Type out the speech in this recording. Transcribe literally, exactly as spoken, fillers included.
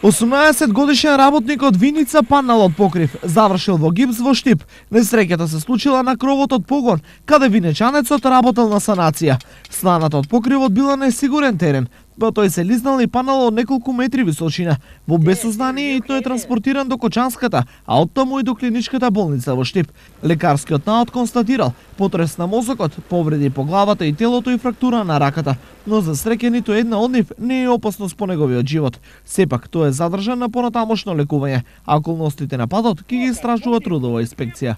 осумнаесет годишен работник од Виница паднал од покрив, завршил во гипс во Штип. Несреќата се случила на кровот од погон, каде винечанецот работел на санација. Станата од покривот била несигурен терен, па тој се лизнал и паднал од неколку метри височина. Во безсознание и тој е транспортиран до Кочанската, а оттаму и до клиничката болница во Штип. Лекарскиот наод констатирал потрес на мозокот, повреди по главата и телото и фрактура на раката, но за среќа ниту една од нив не е опасност по неговиот живот. Сепак тој е задржан на понатамошно лекување, а околностите на падот ќе ги истражува трудова инспекција.